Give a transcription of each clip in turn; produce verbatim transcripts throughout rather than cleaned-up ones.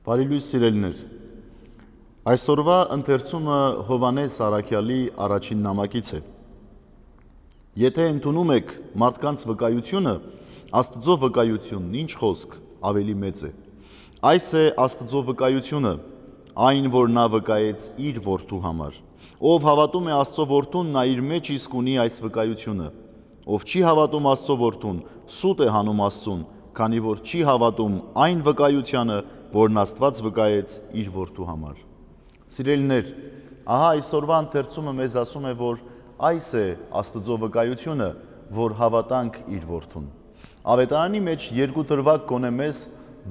Բարի լույս սիրելիներ, այսօրվա ընթերցումը Հովհաննես Առաքյալի առաջին նամակից է։ Եթե ընդունում եք մարդկանց վկայությունը, Աստծո վկայությունն ինչ խոսք ավելի մեծ է։ Այս է Աստծո վկայությունը, այն, որ նա վկայեց իր որդու համար։ Ով հավատում է Աստծո որդուն, նա իր մեջ իսկ ունի այս վկայությունը։ Ով չի հավատում Աստծո որդուն, սուտ է հանում Աստծուն, քանի որ չի հավատում այն վկայությանը, որն Աստված վկայեց իր որդու համար։ Սիրելիներ, ահա այսօրվա ընթերցումը մեզ ասում է, որ այս է Աստծո վկայությունը, որ հավատանք իր որդուն։ Ավետարանի մեջ երկու դրվագ գոնե մեզ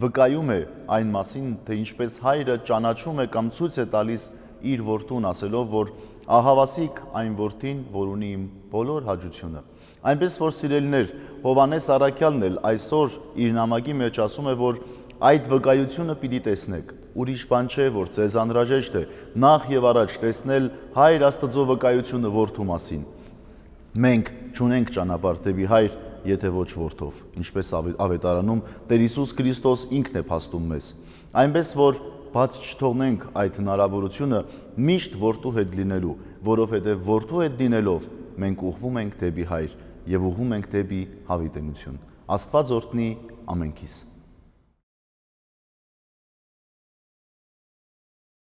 վկայում է այն մասին, թե ինչպես հայրը ճանաչում է կամ ցույց է տալիս իր որդուն, ասելով, որ ահավասիկ այն որդին, որ ունի իմ բոլոր հաճությունը։ Այնպես որ սիրելիներ, Հովհաննես Առաքյալն էլ այսօր իր նամակի մեջ ասում է, որ այդ վկայությունը պիտի տեսնեք։ Ուրիշ բան չէ, որ ձեզ անհրաժեշտ է նախ եւ առաջ տեսնել Հայր Աստծո վկայությունը որդու մասին։ Մենք չունենք ճանապարհ դեպի Հայր, եթե ոչ որդով, ինչպես ավետարանում Տեր Հիսուս Քրիստոս ինքն է փաստում մեզ։ Այնպես որ բաց չթողնենք այդ հնարավորությունը միշտ որդու հետ լինելու, որովհետև որդու հետ լինելով մենք ուղղվում ենք դեպի Հայր եւ ուղղում ենք դեպի հավիտենություն։ Աստված օրհնի ամենքիս։